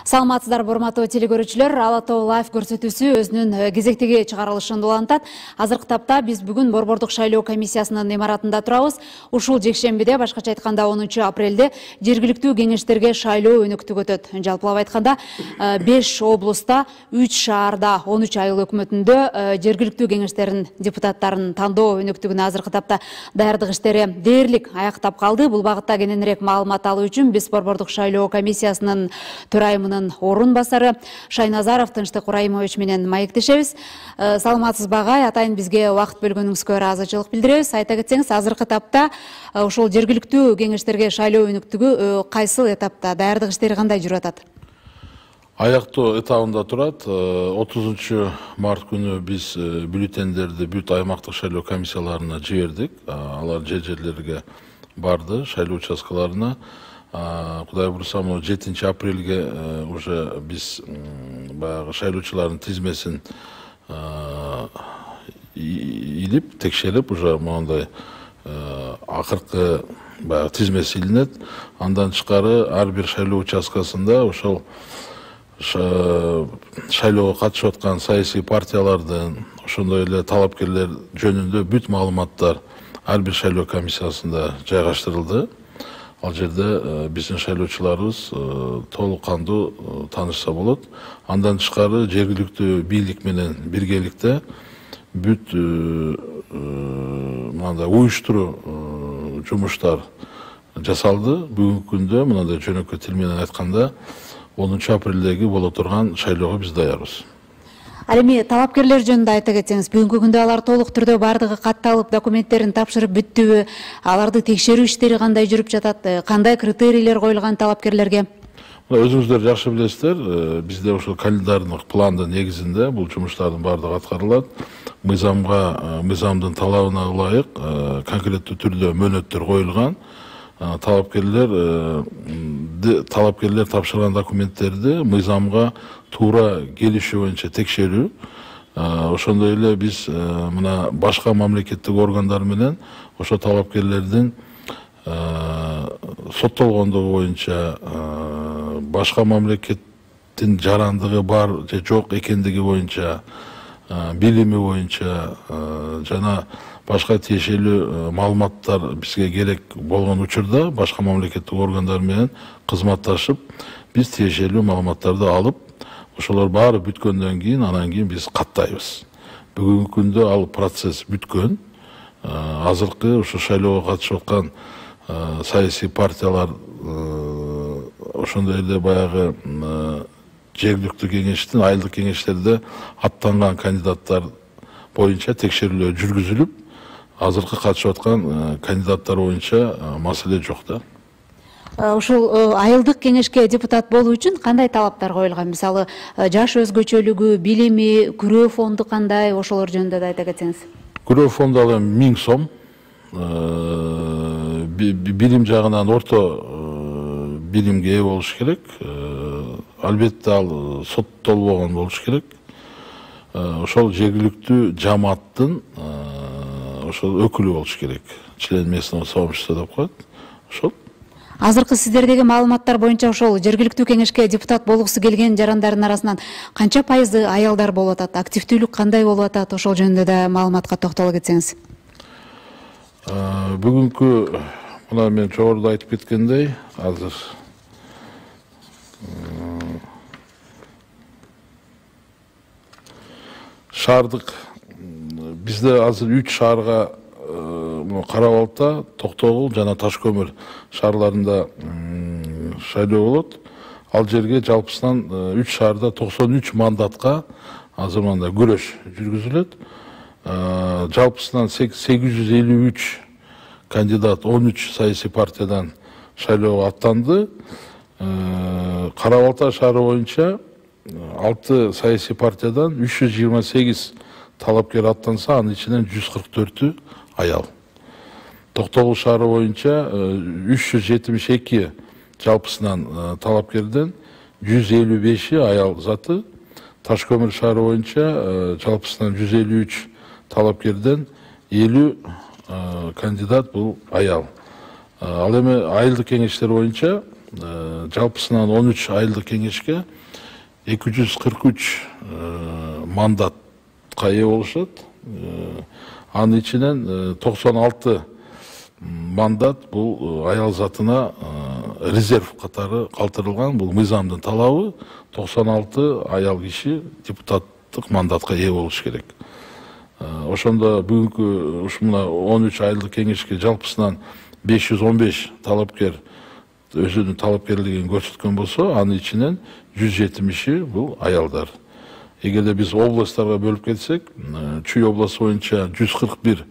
Саламатсыздар, урматтуу телекөрүүчүлөр. Ала Тоо Лайф көрсөтүүсү өзүнүн кезектеги чыгарылышын улантат. Азыркы тапта биз бүгүн Борбордук шайлоо комиссиясынын имаратында турабыз. Ушул жекшембиде, башкача айтканда 10 апрелде жергиликтүү кеңештерге шайлоо өнөктүгү өтөт. Жалпылап айтканда 5 облуста, 3 шаарда 13 айыл өкмөтүндө жергиликтүү кеңештердин депутаттарын тандоо өнөктүгүнө азыркы тапта даярдык иштери дээрлик аяктап калды. Бул багытта кененирээк маалымат алуу үчүн биз Борбордук шайлоо комиссиясынын төрайымынын орун басары Шайназаров Тынчтык Курайымович менен маектешебиз. Саламатсызбы агай, атайын бизге убакыт бөлгөнүңүзгө ыраазычылык билдиребиз. Айта кетсеңиз, азыркы тапта ошол жергиликтүү кеңештерге шайлоо өнөктүгү кайсыл этапта, даярдык иштери кандай жүрүп атат? Аяктоо этабында турат. 30 март күнү биз бюллетендерди бүт аймактык шайлоо комиссияларына жибердик. Алар жерлерге барды, шайлоо участкаларына. Кудай бурса, 7 апрелге уже биз баягы шайлоочулардын тизмесин илип, текшерип, уже мондай акыркы баягы тизмеси илинет. Андан тышкары ар бир шайлоо участкасында ошол шайлоого катышып аткан саясий партиялардын, ошондой эле талапкерлер жөнүндө бүт маалыматтар ар бир шайлоо комиссиясында жайгаштырылды. Ал жерде биздин шайлоочуларыбыз толук кандуу таанышса болот. Андан тышкары жергиликтүү бийлик менен биргеликте бүт мындай уюштуруу жумуштар жасалды. Бүгүнкү күндө мындай жөнөкөй тил менен айтканда 10 апрелдеги боло турган шайлоого биз даярбыз. Ал эми талапкерлер жөнүндө айта кетсеңиз, бүгүнкү күндө алар толук түрдө бардыгы катталып, документтерин тапшырып бүттүбү? Аларды текшерүү иштери кандай жүрүп жатат? Кандай критерийлер коюлган талапкерлерге? Өзүңүздөр жакшы билесиздер, бизде ошол календардык пландын негизинде бул жумуштардын бардыгы аткарылат. Мыйзамдын талабына ылайык конкреттүү түрдө мөөнөттөр коюлган. Талапкерлер тапшырган документтерди мыйзамга туура келиши боюнча текшерүү. Ошондой эле биз мына башка мамлекеттик органдар менен ошо талапкерлердин соттолгондугу боюнча, башка мамлекеттин жарандыгы бар же жок экендиги боюнча, билими боюнча жана башка тиешелүү маалыматтар бизге керек болгон учурда башка мамлекеттик органдар менен кызматташып, биз тиешелүү маалыматтарды алып, ошолор баары бүткөндөн кийин, анан кийин биз каттайбыз. Бүгүнкү күндө ал процесс бүткөн. Азыркы ушу шайлоого катышып аткан саясий партиялар, ошондой эле баягы жергиликтүү кеңештин, айылдык кеңештерде аттанган кандидаттар боюнча текшерүүлөр жүргүзүлүп, азыркы катышып аткан кандидаттар боюнча маселе жок да. Ушул айылдык кеңешке депутат болуу үчүн кандай талаптар коюлган? Мисалы, жаш өзгөчөлүгү, билими, күрөө фонду кандай? Ошолор жөнүндө да айта кетсеңиз. Күрөө фонду ал 1000 сом. Билим жагынан орто билимге ээ болуш керек. Албетте ал соттолбогон болуш керек. Ошол жергиликтүү жамааттын ошол өкүлү болуш керек. Член местного сообщества деп коет. Ошол. Азыркы сиздердеги маалыматтар боюнча ошол жергиликтүү кеңешке депутат болгусу келген жарандардын арасынан канча пайызы аялдар болуп атат? Активдүүлүк кандай болуп атат? Ошол жөнүндө да маалыматка токтоло кетсеңиз. Бүгүнкү мына мен жогоруда айтып кеткендей, азыр шаардык бизде азыр 3 шаарга Кара Балта, Токтогул жана Таш көмүр шаарларында шайлоо болот. Ал жерге жалпысынан 3 шаарда 93 мандатка азыр мындай күрөш жүргүзүлөт. Жалпысынан 853 кандидат 13 саясий партиядан шайлоого аттанды. Кара Балта шаары боюнча 6 саясий партиядан 328 талапкер аттанса, анын ичинен 144-ü аял. Токтогул шаары боюнча 372 жалпысынан талапкерден 155-и аял заты. Таш көмүр шаары боюнча жалпысынан 153 талапкерден 50 кандидат бул аял. Ал эми айылдык кеңештер боюнча жалпысынан 13 айылдык кеңешке 243 мандатка ээ болушат. Анын ичинен 96 мандат бул аял затына резерв катары калтырылган. Бул мыйзамдын талабы. 96 аял киши депутаттык мандатка ээ болуш керек. Ошондо бүгүнкү ушуна 13 айылдык кеңешке жалпысынан 515 талапкер өзүнүн талапкерлигин көрсөткөн болсо, анын ичинен 170-и бул аялдар. Эгерде биз областтарга бөлүп кетсек, Чүй областы боюнча 141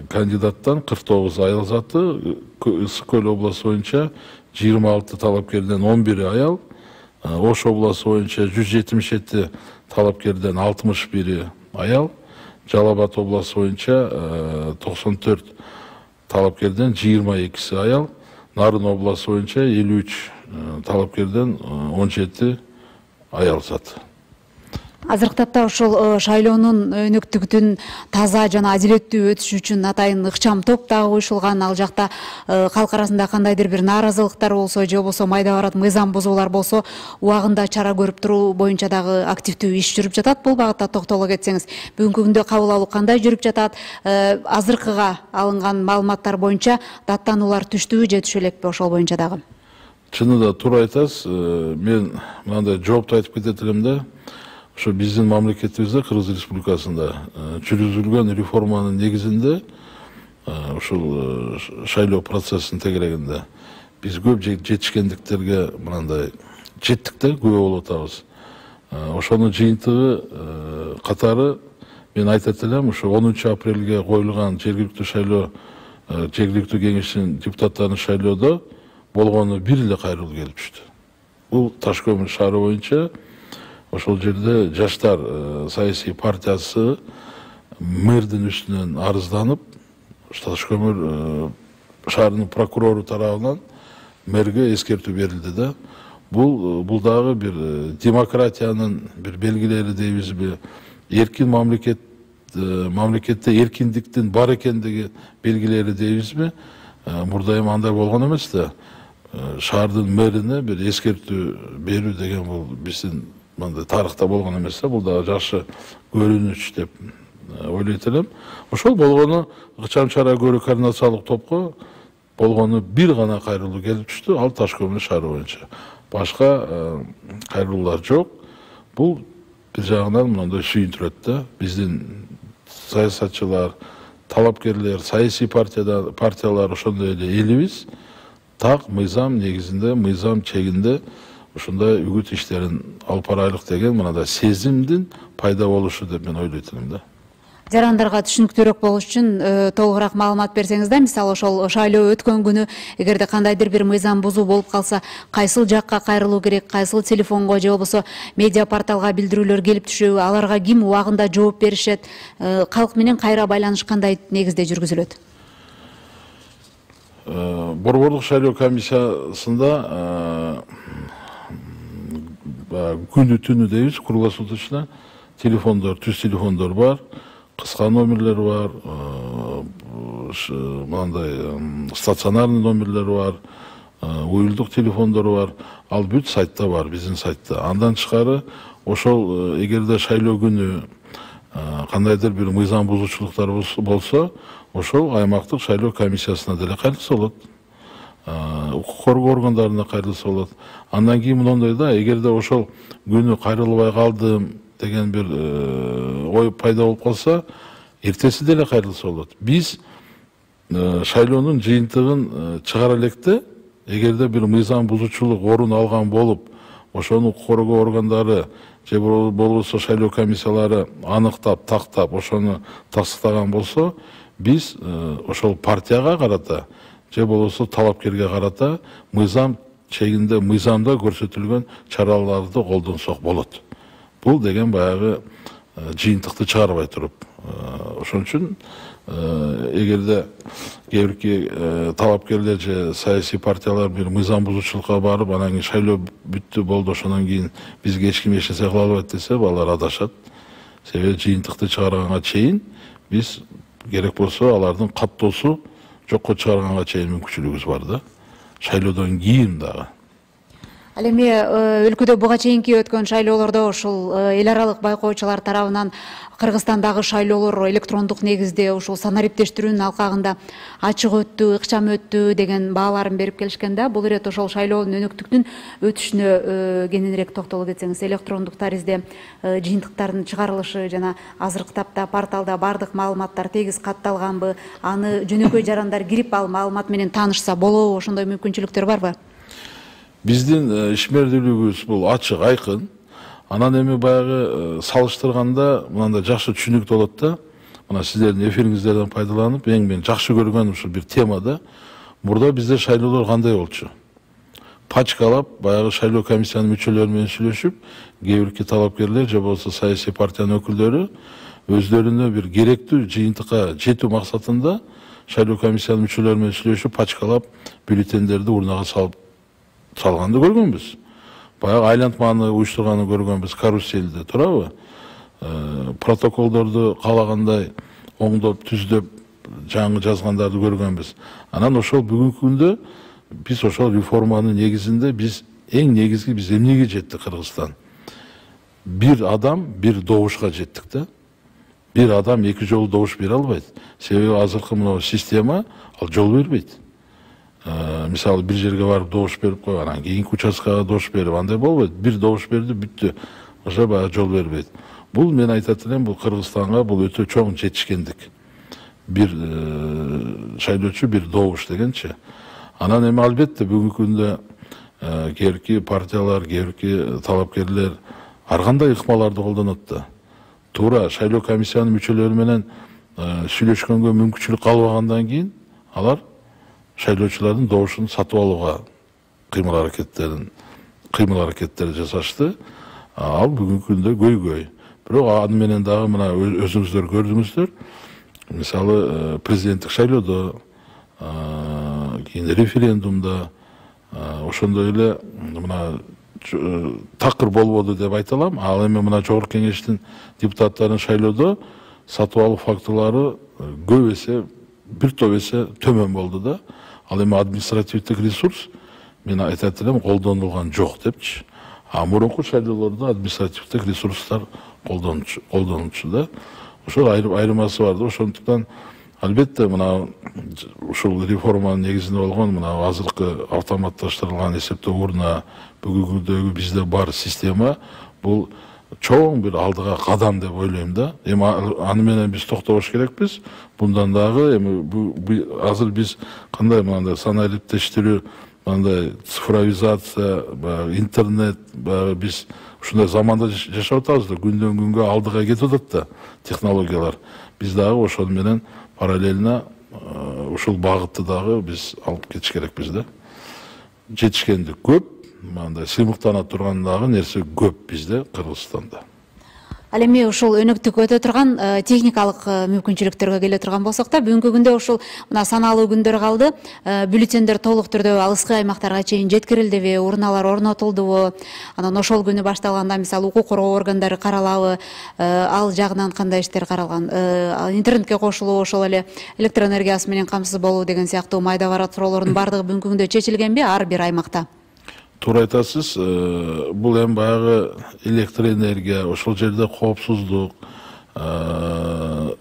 кандидаттан 49 аял заты, Ысык Көл областы боюнча 26 талапкерден 11 аял, Ош областы боюнча 177 талапкерден 61 аял, Жалал Абад областы боюнча 94 талапкерден 22 аял, Нарын областы боюнча 53 талапкерден 17 аял заты. Азыркы тапта ошол шайлоонун өнөктүгүнүн таза жана адилеттүү өтүшү үчүн атайын ыкчам топ дагы коюшулган. Ал жакта калк арасында кандайдыр бир нааразылыктар болсо, же болбосо майда барат мыйзам бузуулар болсо, убагында чара көрүп туруу боюнча дагы активдүү иш жүрүп жатат. Бул багытта токтоло кетсеңиз, бүгүнкү күндө кабыл алуу кандай жүрүп жатат? Азыркыга алынган маалыматтар боюнча даттануулар түштүбү же түшө элекпи ошол боюнча дагы? Чынында туура айтасыз. Мен мындай жоопто айтып кетет элем да. Ошо биздин мамлекетибизде, Кыргыз Республикасында жүргүзүлгөн реформанын негизинде ушул шайлоо процессин тегерегинде биз көп жетишкендиктерге мындай жеттик да, күбө болуп атабыз. Ошонун жыйынтыгы катары мен айтат элем, ушу 10 апрелге коюлган жергиликтүү шайлоо, жергиликтүү кеңештин депутаттарын шайлоодо болгону бир эле кайрылуу келип түштү. Бул Таш көмүр шаары боюнча ошол жерде жаштар саясий партиясы мэрдин үстүнөн арызданып, Таш көмүр шаарынын прокурору тарабынан мэрге эскертүү берилди да. Бул дагы бир демократиянын бир белгилери дейбизби, эркин мамлекетте эркиндиктин бар экендиги белгилери дейбизби. Мурда эми андай болгон эмес да. Шаардын мэрине бир эскертүү берүү деген бул биздин мындай тарыхта болгон эмес да. Бул дагы жакшы көрүнүш деп ойлойт элем. Ошол болгону ыкчам чара көрүү координациялык топко болгону бир гана кайрылуу келип түштү. Ал Таш көмүр шаары боюнча. Башка кайрылуулар жок. Бул бир жагынан мындай сүйүндүрөт да. Биздин саясатчылар, талапкерлер, саясий партиялар ошондой эле элибиз так мыйзам негизинде, мыйзам чегинде ушундай үгүт иштерин алып барайлык деген мындай сезимдин пайда болушу деп мен ойлойт элем да. Жарандарга түшүнүктүүрөөк болуш үчүн толугураак маалымат берсеңиз да, мисалы ошол шайлоо өткөн күнү эгерде кандайдыр бир мыйзам бузуу болуп калса, кайсыл жакка кайрылуу керек, кайсыл телефонго же болбосо медиа порталга билдирүүлөр келип түшөбү, аларга ким убагында жооп беришет, калк менен кайра байланыш кандай негизде жүргүзүлөт? Борбордук шайлоо комиссиясында күнү түнү дейбиз, круглосуточно телефондор, түз телефондор бар. Кыска номерлер бар, мындай стационарный номерлер бар, уюлдук телефондор бар. Ал бүт сайтта бар, биздин сайтта. Андан тышкары ошол эгерде шайлоо күнү кандайдыр бир мыйзам бузуучулуктар болсо, ошол аймактык шайлоо комиссиясына деле кайрылса болот. Укук коргоо органдарына кайрылса болот. Андан кийин мондой да, эгерде ошол күнү кайрылбай калдым деген бир ой пайда болуп калса, эртеси деле кайрылса болот. Биз шайлоонун жыйынтыгын чыгара электе, эгерде бир мыйзам бузуучулук орун алган болуп, ошону укук коргоо органдары же болбосо шайлоо комиссиялары аныктап, тактап, ошону тастыктаган болсо, биз ошол партияга карата же болбосо талапкерге карата мыйзам чегинде, мыйзамда көрсөтүлгөн чараларды колдонсок болот. Бул деген баягы жыйынтыкты чыгарбай туруп. Ошон үчүн эгерде кээ бирки талапкерлер же саясий партиялар бир мыйзам бузуучулукка барып, анан кийин шайлоо бүттү, болду, ошондон кийин бизге эч ким эч нерсе кыла албайт десе, алар адашат. Себеби жыйынтыкты чыгарганга чейин биз керек болсо алардын каттоосу жокко чыгарганга чейин мүмкүнчүлүгүбүз бар да. шайлоодон кийин дагы. Ал эми өлкөдө буга чейинки өткөн шайлоолордо ушул эл аралык байкоочулар тарабынан Кыргызстандагы шайлоолор электрондук негизде ушул санариптештирүүнүн алкагында ачык өттү, ыкчам өттү деген бааларын берип келишкен да. Бул ирет ошол шайлоонун өнөктүктүн өтүшүнө кененирээк токтоло кетсеңиз, электрондук таризде жыйынтыктардын чыгарылышы жана азыркы тапта порталда бардык маалыматтар тегиз катталганбы, аны жөнөкөй жарандар кирип ал маалымат менен таанышса болобу, ошондой мүмкүнчүлүктөр барбы? Биздин ишмердүүлүгүбүз бул ачык, айкын. Анан эми баягы салыштырганда мындай жакшы түшүнүктүү болот да. Мына сиздердин эфириңиздерден пайдаланып, эң мен жакшы көргөн ушул бир темада мурда бизде шайлоолор кандай болчу? Пачкалап, баягы шайлоо комиссиянын мүчөлөрү менен сүйлөшүп, кээ бирки талапкерлер же болбосо саясий партиянын өкүлдөрү өздөрүнө бир керектүү жыйынтыкка жетүү максатында шайлоо комиссиянын мүчөлөрү менен сүйлөшүп, пачкалап бюллетендерди урнага салганды көргөнбүз. Баягы айлантманы уюштурганды көргөнбүз, каруселди, туурабы? Протоколдорду каалагандай оңдоп, түздөп, жаңы жазгандарды көргөнбүз. Анан ошол бүгүнкү күндө биз ошол реформанын негизинде биз эң негизги биз эмнеге жеттик Кыргызстан? Бир адам бир добушка жеттик да. Бир адам эки жолу добуш бере албайт. Себеби азыркы мына система ал жол бербейт. Мисалы бир жерге барып добуш берип коюп, анан кийинки участкага добуш берип, андай болбойт. Бир добуш берди, бүттү. Ошо баягы жол бербейт. Бул мен айтат элем, бул Кыргызстанга бул өтө чоң жетишкендик. Бир шайлоочу бир добуш дегенчи. Анан эми албетте бүгүнкү күндө кээбирки партиялар, кээбирки талапкерлер ар кандай ыкмаларды колдонот да. Туура шайлоо комиссиянын мүчөлөрү менен сүйлөшкөнгө мүмкүнчүлүк калбагандан кийин алар шайлоочулардын добушун сатып алууга кыймыл аракеттери жасашты. Ал бүгүнкү күндө көйгөй. Бирок аны менен дагы мына өзүңүздөр көрдүңүздөр. Мисалы президенттик шайлоодо, кийин референдумда ошондой эле мына такыр болбоду деп айта алам. Ал эми мына жогорку кеңештин депутаттарын шайлоодо сатып алуу фактылары көп эсе, бир топ эсе төмөн болду да. Ал эми административдик ресурс мен айтат элем колдонулган жок депчи. Мурунку шайлоолордо административдик ресурстар колдонулчу да. Ошол айырмасы бар да. Ошондуктан албетте мына ушул реформанын негизинде болгон мына азыркы автоматташтырылган эсептөө урна, бүгүнкү күндөгү бизде бар система бул чоң бир алдыга кадам деп ойлойм да. Эми аны менен биз токтобош керекпиз. Bundan dağı hazır biz kандай mınандай санариптештирүү, mınандай цифровизация, интернет, biz ушундай заманда жашап атабыз да, күндөн күнгө алдыга кетип атат да технологиялар. Биз дагы ошол менен параллельно ушул багытты дагы биз алып кетиш керекпиз да. Жетишкендик көп, мындай сыймыктана турган дагы нерсе көп бизде Кыргызстанда. Ал эми ушул өнөктүк өтө турган техникалык мүмкүнчүлүктөргө келе турган болсок да, бүгүнкү күндө ушул мына саналуу күндөр калды. Бюллетендер толук түрдө алыскы аймактарга чейин жеткирилдиби, урналар орнотулдубу? Анан ошол күнү башталганда мисалы укук коргоо органдары каралабы? Ал жагынан кандай иштер каралган? Интернетке кошулуу, ошол эле электр энергиясы менен камсыз болуу деген сыяктуу майда бара суроолордун бардыгы бүгүнкү күндө чечилгенби ар бир аймакта? Туура айтасыз, бул эми баягы электр энергия, ошол жерде коопсуздук,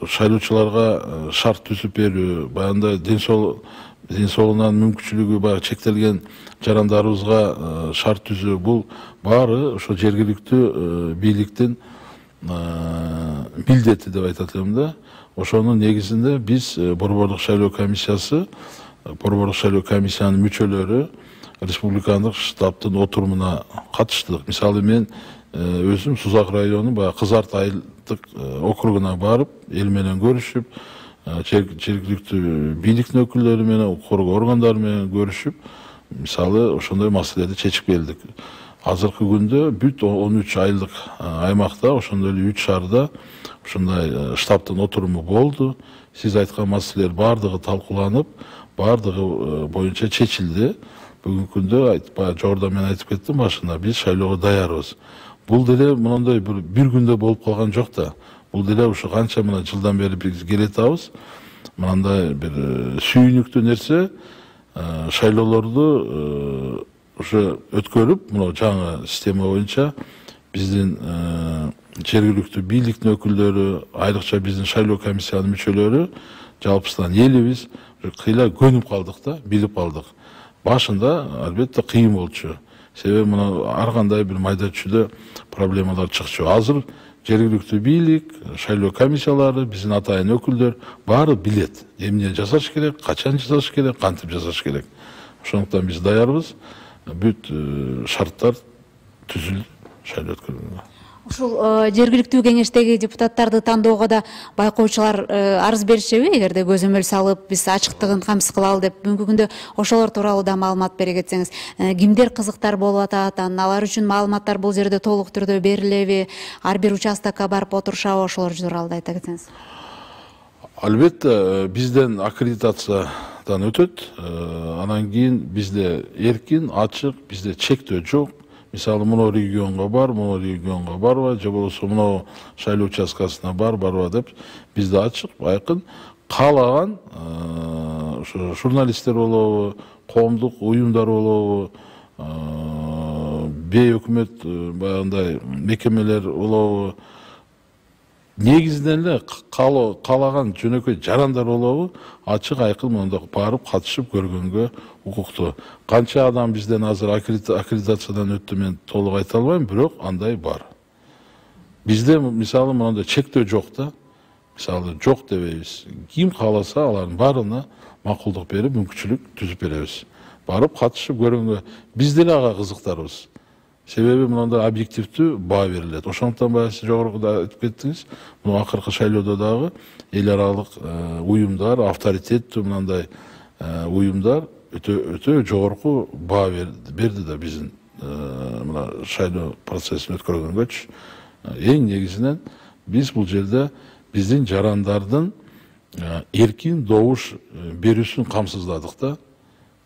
шайлоочуларга шарт түзүп берүү, баягындай ден соолугунан мүмкүнчүлүгү баягы чектелген жарандарыбызга шарт түзүү, бул баары ошо жергиликтүү бийликтин милдети деп айтат элем да. Ошонун негизинде биз Борбордук шайлоо комиссиясы, Борбордук шайлоо комиссиянын мүчөлөрү республикандык штабтын отурумуна катыштык. Мисалы мен өзүм Сузак районунун баягы Кызарт айылдык округуна барып, эл менен көрүшүп, жергиликтүү бийликтин өкүлдөрү менен, коргоо органдары менен көрүшүп, мисалы ошондой маселени чечип келдик. Азыркы күндө бүт 13 айылдык аймакта, ошондой эле 3 шаарда ушундай штабтын отуруму болду. Сиз айткан маселелер бардыгы талкууланып, бардыгы боюнча чечилди. Бүгүнкү күндө жогоруда мен айтып кеттим башында, биз шайлоого даярбыз. Бул деле мындай бир күндө болуп калган жок да. Бул деле ушу канча мына жылдан бери биз келе атабыз. Мындай бир сүйүнүктүү нерсе, шайлоолорду уже өткөрүп, мына жаңы система боюнча биздин жергиликтүү бийликтин өкүлдөрү, айрыкча биздин шайлоо комиссиянын мүчөлөрү, жалпысынан элибиз кыйла көнүп калдык да, билип калдык. Башында албетте кыйын болчу. Себеби мына ар кандай бир майда чүйдө проблемалар чыкчу. Азыр жергиликтүү бийлик, шайлоо комиссиялары, биздин атайын өкүлдөр баары билет. Эмне жасаш керек, качан жасаш керек, кантип жасаш керек. Ошондуктан биз даярбыз. Бүт шарттар түзүлдү шайлоо өткөргөнгө. Ушул жергиликтүү кеңештеги депутаттарды тандоого да байкоочулар арыз беришеби, эгерде көзөмөл салып, биз ачыктыгын камсыз кылалы деп, бүгүнкү күндө ошолор тууралуу да маалымат бере кетсеңиз. Кимдер кызыктар болуп атат, алар үчүн маалыматтар бул жерде толук түрдө берилеби, ар бир участокко барып отурушабы, ошолор тууралуу да айта кетсеңиз. Албетте бизден аккредитациядан өтөт. Анан кийин бизде эркин, ачык, бизде чектөө жок. Мисалы, мына регионго бар, мына регионго барба, же болбосо мына шайлоо участкасына барба деп бизде ачык, айкын. Каалаган ошо журналисттер болобу, коомдук уюмдар болобу, бейөкмөт баягындай мекемелер болобу, негизинен эле каалаган жөнөкөй жарандар болобу, ачык айкын монда барып катышып көргөнгө укуктуу. Канча адам бизден азыр аккредитациядан өттү, мен толук айта албайм, бирок андай бар. Бизде мисалы мындай чектөө жок да. Мисалы жок дебейбиз. Ким кааласа алардын баарына макулдук берип, мүмкүнчүлүк түзүп беребиз. Барып катышып көргөнгө биз деле ага кызыктарбыз. Себеби мындай объективдүү баа берилет. Ошондуктан баягы сиз жогоруда айтып кеттиңиз, мына акыркы шайлоодо дагы эл аралык уюмдар, авторитеттүү мындай уюмдар өтө жогорку баа берди да биздин мына шайлоо процессин өткөргөнгөчү. Эң негизинен биз бул жерде биздин жарандардын эркин добуш берүүсүн камсыздадык да.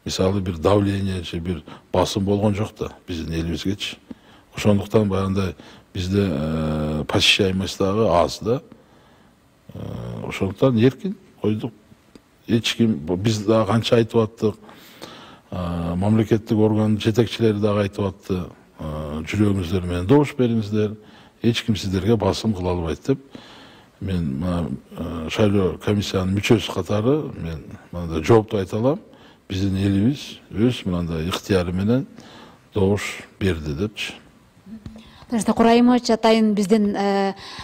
Мисалы бир давление же бир басым болгон жок да биздин элибизгечи. Ошондуктан баягындай бизде посещаемость дагы аз да. Ошондуктан эркин койдук. Эч ким, биз дагы канча айтып аттык, мамлекеттик орган жетекчилери дагы айтып атты, жүрөгүңүздөр менен добуш бериңиздер, эч ким сиздерге басым кыла албайт деп. Мен шайлоо комиссиянын мүчөсү катары мен мындай жоопту айта алам. Биздин элибиз өз мындай ыктыяры менен добуш берди депчи. Тынчтык Курайымович, атайын биздин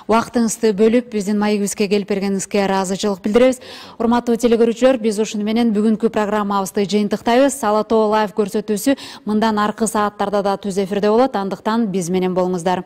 убактыңызды бөлүп, биздин маегибизге келип бергениңизге ыраазычылык билдиребиз. Урматтуу телекөрүүчүлөр, биз ушуну менен бүгүнкү программабызды жыйынтыктайбыз. Ала Тоо лайв көрсөтүүсү мындан аркы сааттарда да түз эфирде болот. Андыктан биз менен болуңуздар.